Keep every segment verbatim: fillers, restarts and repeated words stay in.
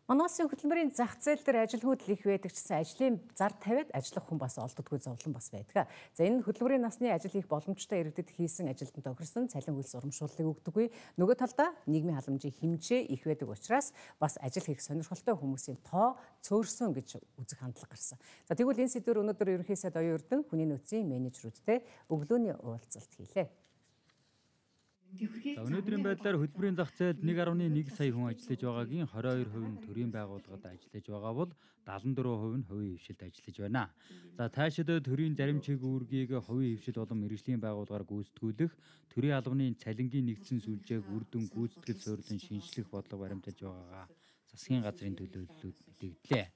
Манай улсын хөтөлбөрийн зах зээл дээр ажил хөдөл их байдаг чсэн ажлын зар тавиад ажиллах хүн бас олддоггүй зовлон бас байдаг. За энэ хөтөлбөрийн насны ажил хийх боломжтой иргэдэд хийсэн ажилтан тохирсон цалин хөлс урамшууллыг өгдөггүй. Нөгөө талдаа нийгмийн халамжийн хэмжээ их байдаг учраас бас ажил хийх сонирхолтой хүмүүсийн тоо цөөрсөн гэж үзэх хандлага гарсан. За тэгвэл энэ сэдвээр өнөөдөр ерөнхий сайд Оюун Эрдэнэ хүний нөөцийн менежерүүдтэй өглөөний уулзалт хийлээ. За өнөөдрийн байдлаар хөтөлбөрийн зах зээлд нэг гаруй нэг сая хүн ажиллаж байгаагийн хорин хоёр хувь нь төрийн байгууллагад ажиллаж байгаа бол дадлан дөрвөн хувь нь хувийн хвшилд ажиллаж байна. За цаашид төрийн зарим чиг үүргийг хувийн хвшил болон мэргэжлийн байгууллагаар гүйцэтгүүлэх, төрийн албаны цалингийн нэгдсэн сүлжээг үр дүн гүйцэтгэл суурилан шинжлэх бодлого баримталж байгаагаа засгийн газрын төлөөллүүд мэдэгдлээ.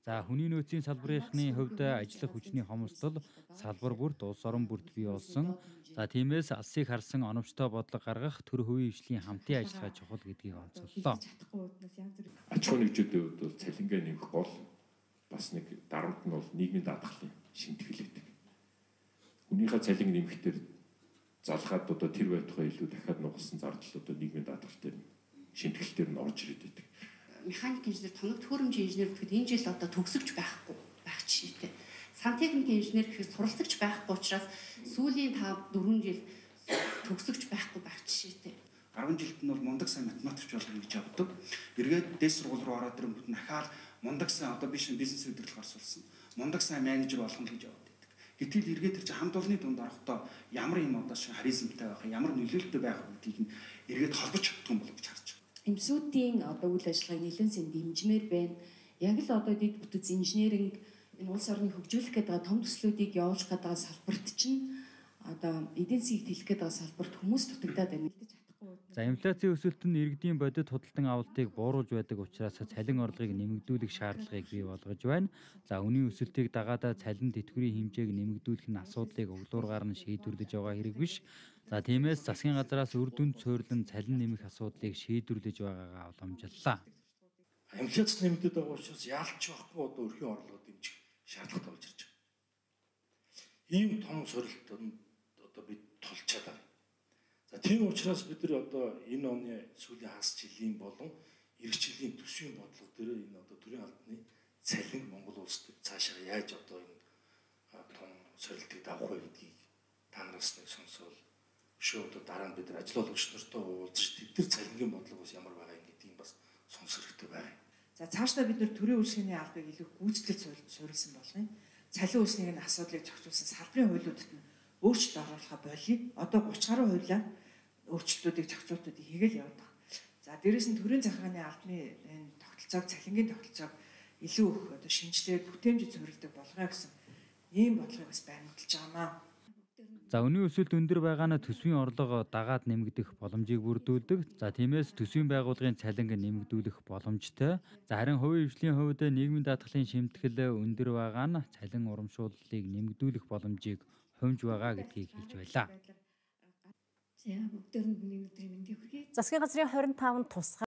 За хүний нөөцийн салбарынхны хувьд ажиллах хүчний хомсдол салбар бүрт улс орон бүрт бий болсон. За тиймээс алсыг харсан оновчтой бодлого гаргах төр хувийн хвшлийн хамтын ажиллагаа чухал гэдгийг онцоллоо. Аж ахуйн нэгжүүдийн хувьд бол цалингаа нэмэх бол бас нэг дарамт нь бол нийгмийн даатгалын шимтгэл гэдэг. Хүнийхээ цалин нэмэхдээ залгаад одоо тэр байтугай илүү дахиад нугасан зардал одоо нийгмийн даатгал дээр шимтгэл дээр нь орж ирээд байдаг. Механик инженер, тоног төхөөрөмжийн инженер гэхэд энэ жил одоо төгсөгч байхгүй байх жишээтэй. Сантехникийн инженер гэхэд суралцагч байхгүй учраас сүүлийн тав дөрвөн жил төгсөгч байхгүй байх жишээтэй. арван жилд нь бол мундаг сайн математикч болно гэж явдаг. Эргээд дээд сургууль руу ороод ирэнгүүт нахаал мундаг сайн одоо биш бизнес удирдлага орсуулсан. Мундаг сайн менежер болно гэж явдаг. Гэтэл эргээд тэр чинь хамт олонны дунд орохдоо ямар юм одоо шиг харизмтай байх, ямар нөлөөлөлтөй байх гэдгийг нь эргээд холбож чаддаг юм бол гэж харж байна. Эмсүүдийн одоо үйл ажиллагааг нэлээд сэн дэмжмээр байна. Яг л одоо дэд бүтц инженеринг энэ улс орныг хөгжүүлэх гэдэг том төслүүдийг явуулах гэдэг салбарт чинь одоо эдийн засгийг тэлэх гэдэг салбарт хүмүүс дутагдаад байна. За инфляцийн өсөлт нь иргэдийн бодит худалдан авалтыг бууруулж байдаг учраас цалин орлогыг нэмэгдүүлэх шаардлагыг бий болгож байна. За үнийн өсөлтийг дагаад цалин тэтгэврийн хэмжээг нэмэгдүүлэх нь асуудлыг өглөөргаар нь шийдвэрлэж байгаа хэрэг биш. За тиймээс засгийн газраас үр дүнд суурилан цалин нэмэх асуудлыг шийдвэрлэж байгаагаа уламжлалаа. Инфляц нэмэгдээд байгаа учраас яалч байхгүй одоо өрхийн орлого дэмжих шаардлагатай болж ирж байна. Ийм том сорилтонд одоо бид тулж чадаа. За тийм учраас бид нар одоо энэ оны сүүлийн хагас жилийн болон эх жилийн төсвийн бодлого дээр энэ одоо төрийн албаны цалин Монгол улсад цаашаа яаж одоо энэ том сорилтыг давах вэ гэдгийг та нараас нэг сонсвол шүү одоо дараа нь бид нар ажил олгогч нартай уулзаж тэд нар цалингийн бодлого бас ямар байгаа юм гэдгийг бас сонсох хэрэгтэй байна. За цаашдаа бид нар төрийн үйлчлэгийн албыг илүү гүйцэтгэл суурилсан болгоно. Цалин үүснийг нь асуудлыг зохицуулсан салбарын хуулиудад нь өөрчлөлт оруулахаа болиё. Одоо гурван гаруй хуулиар өөрчлөлтүүдийг зохицуултуудыг хийгээл яваад байгаа. За дээрэс нь төрийн захиргааны албаны энэ тогтолцоог цалингийн тогтолцоог илүү их одоо шинжилээд бүтээмжид суурилдаг болгоё гэсэн ийм бодлогыг бас баримталж байгаамаа. За үнийн өсөлт өндөр байгаа нь төсвийн орлого дагаад нэмэгдэх боломжийг бүрдүүлдэг. За тиймээс төсвийн байгууллагын цалинг нэмэгдүүлэх боломжтой. За харин хувийн хвшлийн хувьд нийгмийн даатгалын шимтгэл өндөр байгаа нь цалин урамшууллыг нэмэгдүүлэх боломжийг хумж байгаа гэдгийг хэлж байлаа. За бүгдээр нь өдрийн мэндийг хүргэе. Засгийн газрын хорин таван тусгай